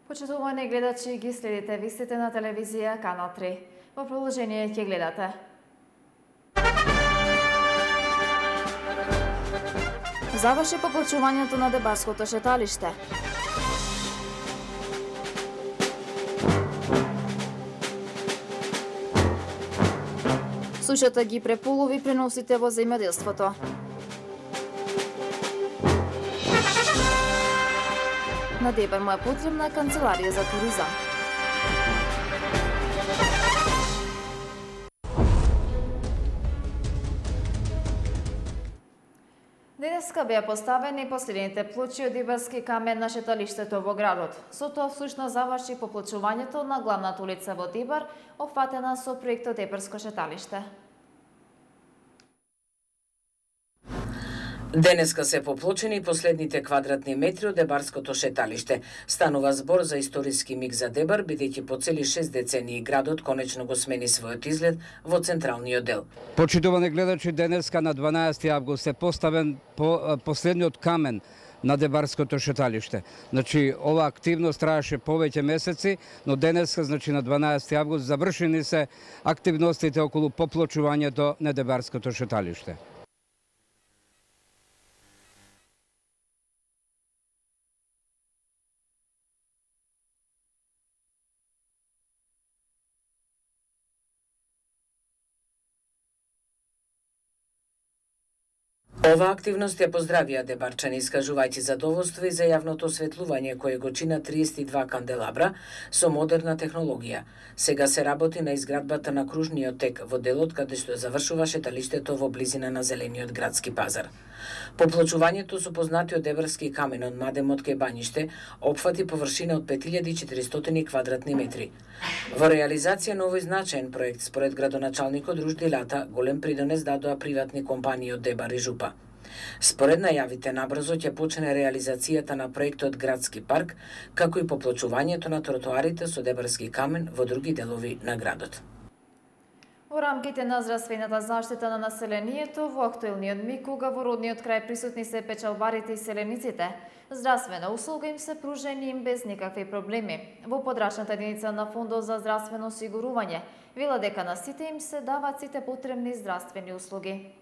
Почитувани гледачи, ги следите вистите на телевизија Канал 3. Во продолжение ќе гледате. Заврши поплачувањето на Дебарското шеталиште. Сушата ги преполови преносите во земјоделството. На Дебар му е потребна канцеларија за туризам. Денеска беа поставени последните плочи од Дебарски камен на шеталиштето во градот. Со тоа всушност заврши поплочувањето на главната улица во Дебар, опфатена со проектот Дебарско шеталиште. Денеска се поплочени последните квадратни метри од Дебарското шеталиште. Станува збор за историски миг за Дебар, бидејќи по цели 6 децении градот конечно го смени својот изглед во централниот дел. Почитувани гледачи, денеска на 12 август е поставен последниот камен на Дебарското шеталиште. Значи, ова активност траеше повеќе месеци, но денеска, значи на 12 август, завршени се активностите околу поплочувањето на Дебарското шеталиште. Ова активност ја поздравија дебарчани, искажувајќи задоволство и за јавното осветлување кое го чина 32 канделабра со модерна технологија. Сега се работи на изградбата на кружниот тек во делот каде што завршува шеталиштето во близина на зелениот градски пазар. Поплочувањето со познатиот Дебарски камен од Мадемот кај Бањиште опфати површина од 5400 квадратни метри. Во реализација на овој значаен проект, според градоначалникот Ружди Лата, голем придонес дадоа приватни компании од Дебар и Жупа. Според најавите, набрзо ќе почне реализацијата на проектот Градски парк, како и поплочувањето на тротоарите со Дебарски камен во други делови на градот. Во рамките на здравствената заштита на населението, во актуелниот миг, кога во родниот крај присутни се печалбарите и селениците, здравствена услуга им се пружени им без никакви проблеми. Во подрачната единица на Фондот за здравствено осигурување, вела дека на сите им се даваат сите потребни здравствени услуги.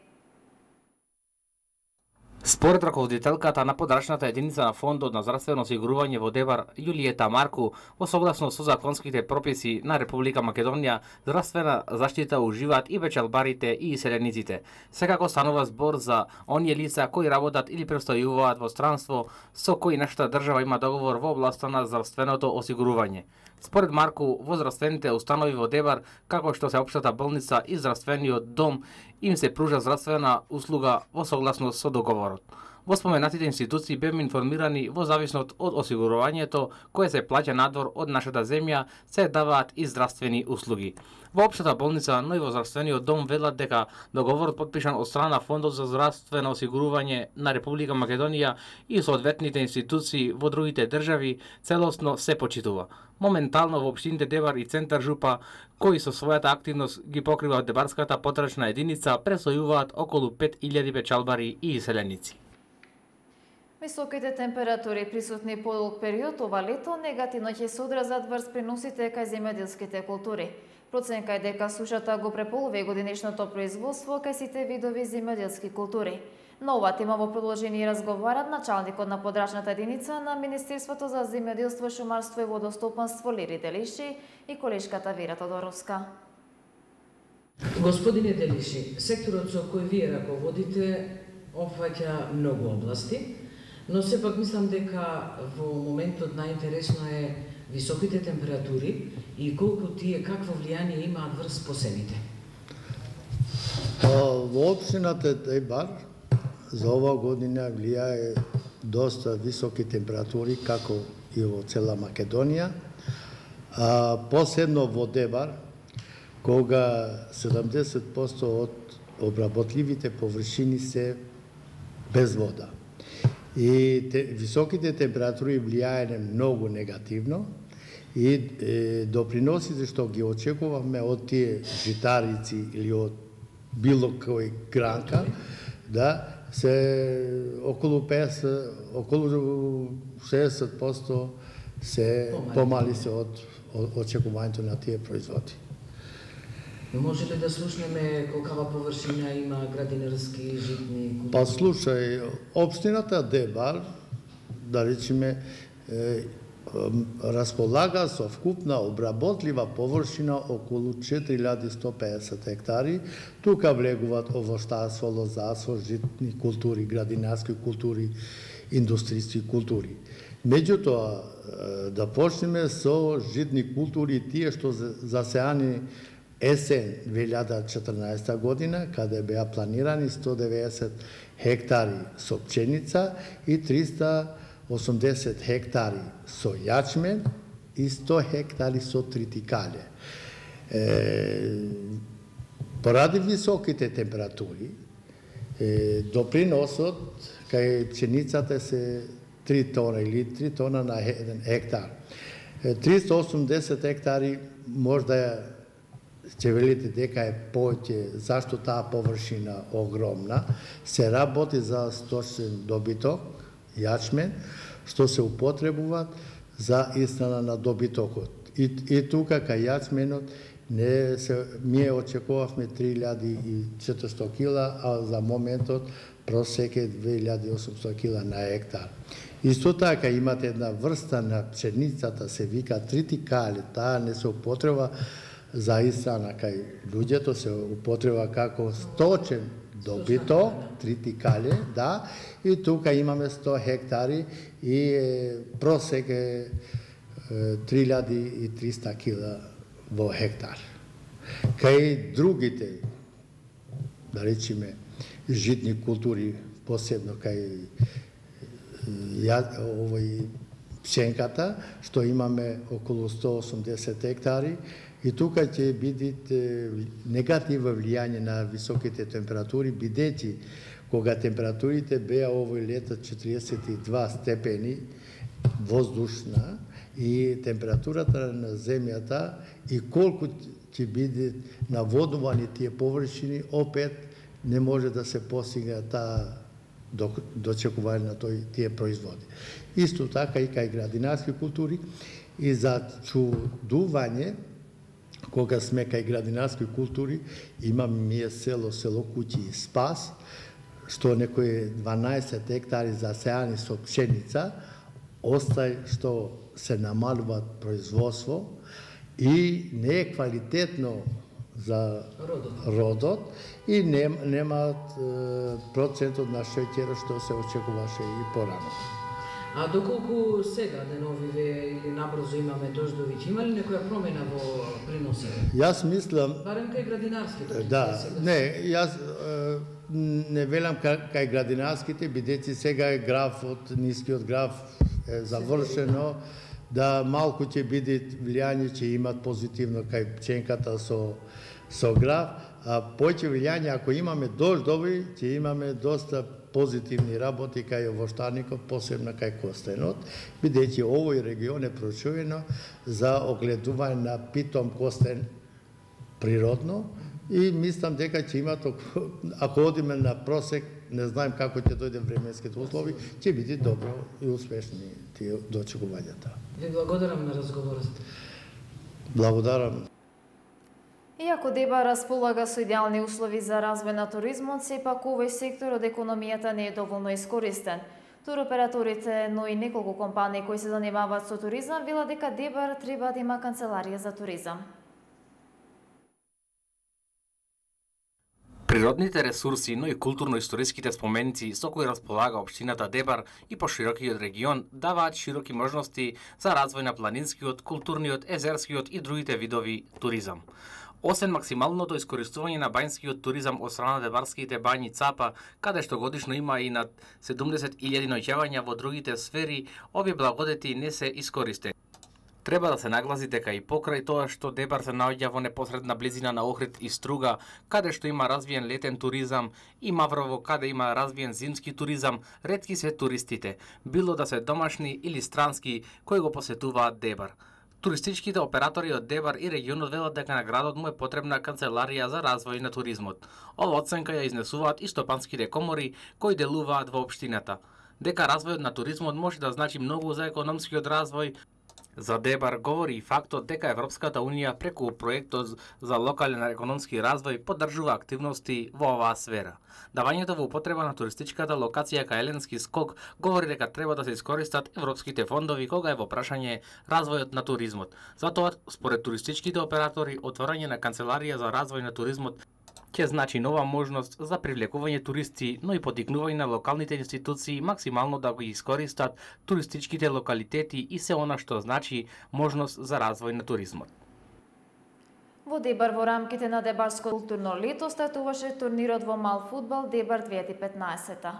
Според раководителката на подрачната единица на Фондот на здравствено осигурување во Дебар, Јулиета Марку, во согласно со законските прописи на Република Македонија, здравствена заштита уживаат и печалбарите и селениците. Секако станува збор за оние лица кои работат или престојуваат во странство, со кои нашата држава има договор во областа на здравственото осигурување. Според Марку, во здравствените установи во Дебар, како што се општата болница и здравствениот дом, им се пружа здравствена услуга во согласност со договорот. Во споменатите институции беме информирани во зависност од осигурувањето кое се плаќа надвор од нашата земја, се даваат и здравствени услуги. Во општата болница, но и во здравствениот дом велат дека договорот подпишан од страна Фондот за здравствено осигурување на Република Македонија и соодветните институции во другите држави целосно се почитува. Моментално во општините Дебар и Центар Жупа, кои со својата активност ги покриваат Дебарската потрачна единица, престојуваат околу 5000 печалбари и селеници. Високите температури присутни подолг период ова лето негативно ќе се одразат врз преносите кај земјоделските култури. Проценка е дека сушата го преполови годинешното производство кај сите видови земјоделски култури. На ова тема во продолжение разговарат началникот на подрачната единица на Министерството за земјоделство, шумарство и водостопанство Лири Делиши и колешката Вера Тодоровска. Господине Делиши, секторот со кој вие раководите опфаќа многу области, но сепак мислам дека во моментот најинтересно е високите температури и колку тие какво влијание имаат врз посевите. Во општината Дебар за ова година влијае доста високи температури, како и во цела Македонија. Посебно во Дебар, кога 70% од обработливите површини се без вода. И високите температури влијаене многу негативно и доприносите што ги очекуваме од тие житарици или од било кој гранка, да се околу 60% се помали се од очекувањето на тие производи. Може ли да слушнеме колкава површина има градинарски житни култури? Па слушај, општината Дебар, да речеме, располага со вкупна обработлива површина околу 4150 хектари. Тука влегуваат овоштарство, лозарство, житни култури, градинарски култури, индустријски култури. Меѓутоа, да почнеме со житни култури, тие што засеани есен 2014 година, каде беа планирани 190 хектари со пченица и 380 хектари со јачмен и 100 хектари со тритикале. Поради високите температури, доприносот кај пченицата се 3 тона или 3 тона на 1 хектар. 380 хектари можда ќе велите дека е повеќе, зашто таа површина огромна, се работи за сточен добиток, јачмен, што се употребуваат за исхрана на добитокот. И тука кај јачменот ние очекувавме 3400 кила, а за моментот просек е 2800 кила на хектар. Исто така имате една врста на пшеницата, се вика тритикале, таа не се употреба за исхрана кај луѓето, се употреба како сточен добиток, тритикале, да, и тука имаме 100 хектари и просек е 3300 кила во хектар. Кај другите, да речеме, житни култури, посебно кај пшенката, што имаме околу 180 хектари, и тука ќе биде негативно влијање на високите температури, бидејќи кога температурите беа овој лето 42 степени воздушна и температурата на земјата и колку ќе биде наводнувани тие површини, опет не може да се постигне таа дочекување на тие производи. Исто така и кај градинарски култури и за чудување, кога сме кај градинарски култури, имаме ние село Куќи и Спас, што некои 12 хектари засеани со пшеница, остај што се намалуваат производство и не е квалитетно за родот и немаат процентот на шеќер што се очекуваше и порано. А доколку сега деновиве или набрзо имаме дождови, има ли некоја промена во приносите? Јас мислам... Барем кај градинарските. Да, не, јас не велам кај градинарските, бидејќи сега е графот, нискиот граф е завршено, да малку ќе биде влијање, ќе имат позитивно кај пченката со граф, а поќе влијање, ако имаме дождови, ќе имаме доста позитивни работи кај овоштарникот, посебно кај костенот, бидејќи овој регион е прочуено за огледување на питом костен природно и мислам дека ќе имат, ако одиме на просек, не знаем како ќе дојде временските услови, ќе биде добро и успешни тие дочекувањата. Ви благодарам на разговорот. Благодарам. Иако Деба располага со идеални услови за развој на туризмот, сепак овој сектор од економијата не е доволно искористен. Туроператорите, но и неколку компании кои се занимаваат со туризам, велат дека Дебар треба да има канцеларија за туризам. Природните ресурси, но и културно-историските споменици со кои располага општината Дебар и поширокиот регион даваат широки можности за развој на планинскиот, културниот, езерскиот и другите видови туризам. Освен максималното искористување на бањскиот туризам од страна на дебарските бањи Цапа, каде што годишно има и над 70.000 ноќевања во другите сфери, овие благодети не се искористени. Треба да се нагласи дека и покрај тоа што Дебар се наоѓа во непосредна близина на Охрид и Струга, каде што има развиен летен туризам, и Маврово, каде има развиен зимски туризам, ретки се туристите, било да се домашни или странски, кои го посетуваат Дебар. Туристичките оператори од Дебар и регионот велат дека на градот му е потребна канцеларија за развој на туризмот. Ова оценка ја изнесуваат и стопанските комори кои делуваат во општината. Дека развојот на туризмот може да значи многу за економскиот развој, За Дебар говори и фактот дека Европската Унија преку проектот за локален економски развој поддржува активности во оваа сфера. Давањето во употреба на туристичката локација кај Еленски скок говори дека треба да се искористат европските фондови кога е во прашање развојот на туризмот. Затоа, според туристичките оператори, отворање на канцеларија за развој на туризмот ќе значи нова можност за привлекување туристи, но и потикнување на локалните институции максимално да го искористат туристичките локалитети и се она што значи можност за развој на туризмот. Во Дебар во рамките на Дебарско културно лето стартуваше турнирот во мал фудбал Дебар 2015.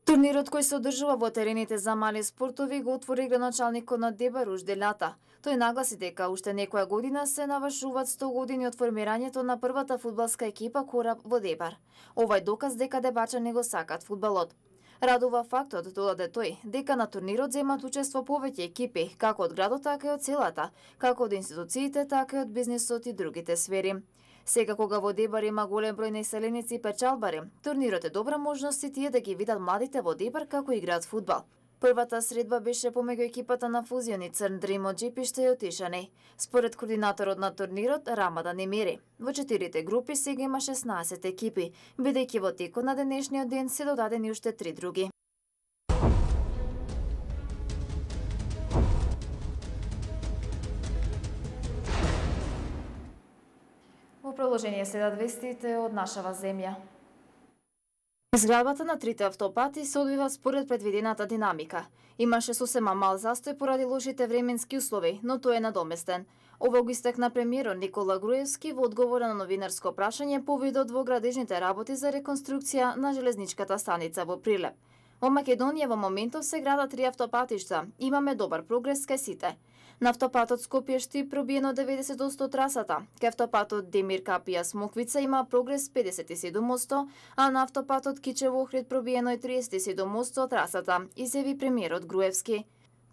Турнирот кој се одржува во терените за мали спортови го отвори градоначалникот на Дебар ужде лята. Тој нагласи дека уште некоја година се навршуваат 100 години од формирањето на првата фудбалска екипа Кораб во Дебар. Ова е доказ дека дебарчани го сакат фудбалот. Радува фактот, додаде тој, дека на турнирот земат учество повеќе екипи, како од градот, така и од селата, како од институциите, така и од бизнисот и другите сфери. Сега кога во Дебар има голем број населеници и печалбари, турнирот е добра можност и тие да ги видат младите во Дебар како играат фудбал. Првата средба беше помеѓу екипата на Фузиони Црн Дрим од Джипиште и Отишани. Според координаторот на турнирот Рамадан Емири, во 4 групи сега има 16 екипи, бидејќи во текот на денешниот ден се додадени уште 3 други. Во продолжение следат вестите од нашава земја. Изградбата на трите автопати се одвива според предвидената динамика. Имаше сосема мал застој поради лошите временски услови, но тој е надоместен. Ова го истакна премиерот Никола Груевски во одговор на новинарско прашање повидот во градежните работи за реконструкција на железничката станица во Прилеп. Во Македонија во моментов се градат 3 автопатишта. Имаме добар прогрес кај сите. На автопатот Скопје-Штип пробиено 90% трасата. Кај автопатот Демир Капија Смоквица има прогрес 57%, а на автопатот Кичево-Охрид пробиено е 37% трасата, изјави премиерот Груевски.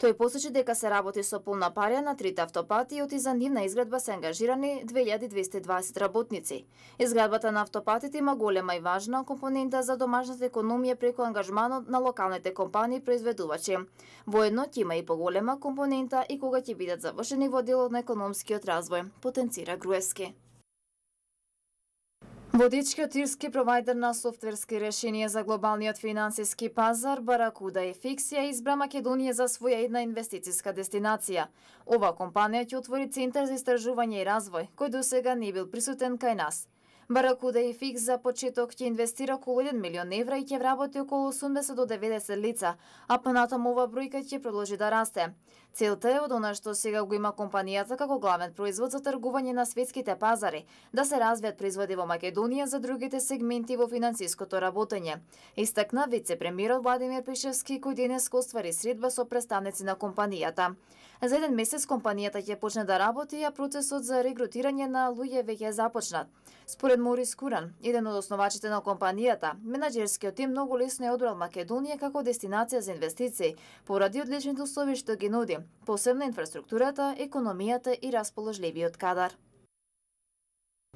Тој посочи дека се работи со полна парја на трите автопати и за нивна изградба се ангажирани 2220 работници. Изградбата на автопатите има голема и важна компонента за домашната економија преку ангажманот на локалните компании произведувачи. Воедно ќе има и поголема компонента и кога ќе бидат завршени во делот на економскиот развој, потенцира Груевски. Водичкиот ирски провајдер на софтверски решенија за глобалниот финансиски пазар Баракуда FX ја избра Македонија за своја една инвестициска дестинација. Ова компанија ќе отвори центар за истражување и развој, кој досега не бил присутен кај нас. Баракуда FX за почеток ќе инвестира околу 1 милион евра и ќе вработи околу 80 до 90 лица, а понатаму ова бројка ќе продолжи да расте. Целта е од она што сега го има компанијата како главен производ за тргување на светските пазари, да се развијат производи во Македонија за другите сегменти во финансиското работење. Истакна вице-премиерот Владимир Пишевски, кој денес оствари средба со представници на компанијата. За 1 месец компанијата ќе почне да работи, а процесот за регрутирање на луѓе веќе е започнат. Според Морис Куран, еден од основачите на компанијата, менаџерскиот тим многу лесно е одбрал Македонија како дестинација за инвестиции, поради одличните услови што ги нуди, посебно инфраструктурата, економијата и расположливиот кадар.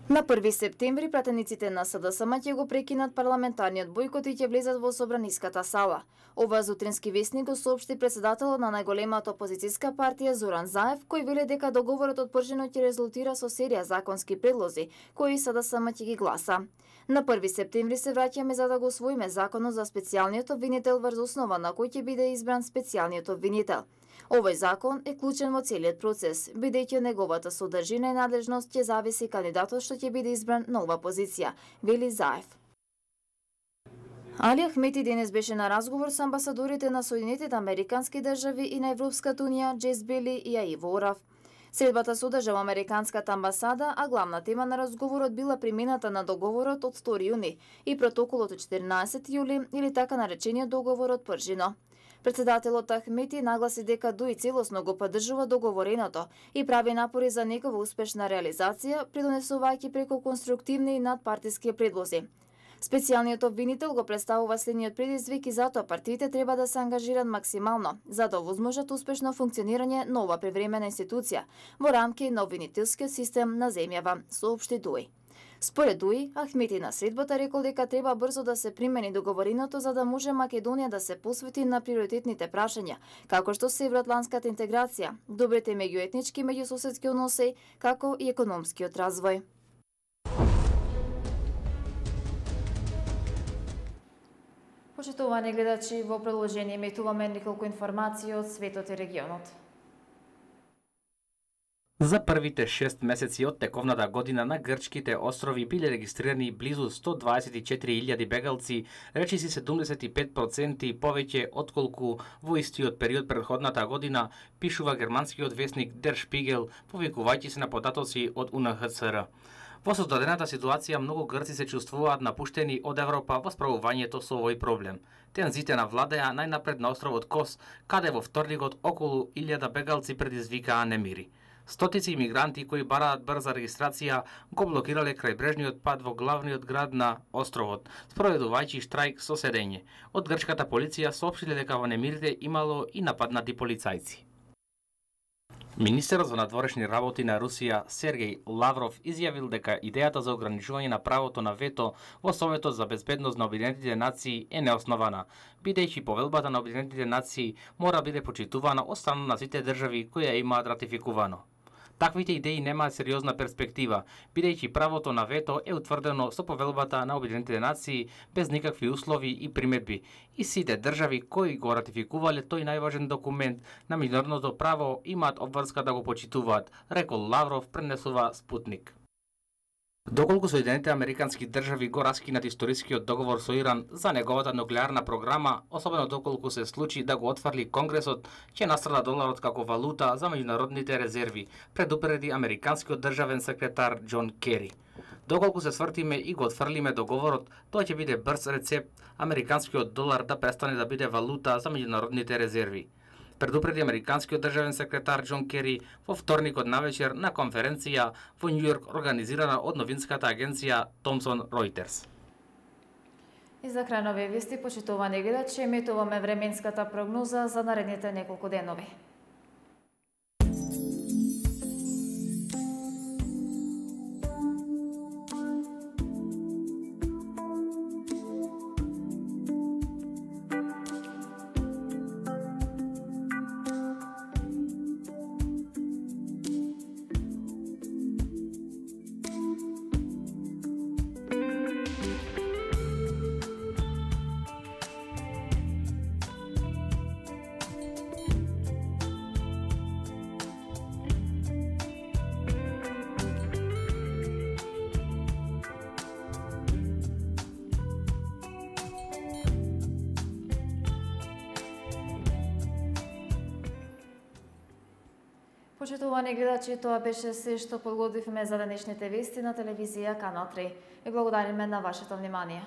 На 1 септември пратениците на СДСМ ќе го прекинат парламентарниот бојкот и ќе влезат во собраниската сала. Ова зутрински весник го соопшти председателот на најголемата опозицијска партија Зоран Заев, кој вели дека договорот од Пржино ќе резултира со серија законски предлози, кои СДСМ ќе ги гласа. На 1 септември се враќаме за да го усвоиме законот за специјалниот обвинител врз основа на кој ќе биде избран специјалниот обвинител. Овој закон е клучен во целиот процес, бидејќи од неговата содржина и надлежност ќе зависи кандидатот што ќе биде избран на ова позиција, вели Заев. Али Ахмети денес беше на разговор со амбасадорите на Соединетите Американски држави и на Европската унија Джейс Бели и Аиво Орав. Средбата се одржа во Американската амбасада, а главна тема на разговорот била примената на договорот од 2 јуни и протоколот од 14 јули или така наречениот договор од Пржино. Председателот Ахмети нагласи дека ДУИ целосно го поддржува договореното и прави напори за негова успешна реализација, придонесувајќи преку конструктивни и надпартиски предлози. Специјалниот обвинител го представува следниот предизвик и затоа партиите треба да се ангажираат максимално за да овозможат успешно функционирање на ова превремена институција во рамки на обвинителскиот систем на земјава, соопшти ДУИ. Според УИ, Ахмети на средбата рекол дека треба брзо да се примени договореното за да може Македонија да се посвети на приоритетните прашања, како што се евроатлантската интеграција, добрите меѓуетнички и меѓусоседски односи, како и економскиот развој. Почитувани гледачи, во продолжение метуваме неколку информации од светот и регионот. За првите 6 месеци од тековната година на грчките острови биле регистрирани близу 124.000 бегалци, речиси 75% повеќе отколку во истиот период претходната година, пишува германскиот весник Der Spiegel, повикувајќи се на податоци од UNHCR. Во создадената ситуација многу грци се чувствуваат напуштени од Европа во справувањето со овој проблем. Тензите навладеа најнапред на островот Кос, каде во вторникот околу 1000 бегалци предизвикаа немири. Стотици имигранти кои бараат брза регистрација го блокирале крајбрежниот пат во главниот град на островот, спроведувајќи штрајк со седење. Од грчката полиција соопштиле дека во немирите имало и нападнати полицајци. Министерот за надворешни работи на Русија Сергеј Лавров изјавил дека идејата за ограничување на правото на вето во Советот за безбедност на Обединетите нации е неоснована, бидејќи повелбата на Обединетите нации мора биде почитувана од страна на сите држави кои ја имаат ратификувано. Таквите идеи немаат сериозна перспектива, бидејќи правото на вето е утврдено со повелбата на Обединетите нации без никакви услови и приметби, и сите држави кои го ратификувале тој најважен документ на меѓународното право имаат обврска да го почитуваат, рекол Лавров, пренесува Спутник. Доколку Соединетите американски држави го раскинат историскиот договор со Иран за неговата нуклеарна програма, особено доколку се случи да го отфрли Конгресот, ќе настрада доларот како валута за меѓународните резерви, предупреди американскиот државен секретар Џон Кери. Доколку се свртиме и го отфрлиме договорот, тоа ќе биде брз рецепт американскиот долар да престане да биде валута за меѓународните резерви, предупреди американскиот државен секретар Џон Кери во вторникот навечер на конференција во Њујорк организирана од новинската агенција Thomson Reuters. И за крај на овие вести, почитувани гледачи, еметуваме временската прогноза за наредните неколку денови. Почитувани гледачи, тоа беше се што подготвивме за денешните вести на телевизија Канал 3. Ви благодариме на вашето внимание.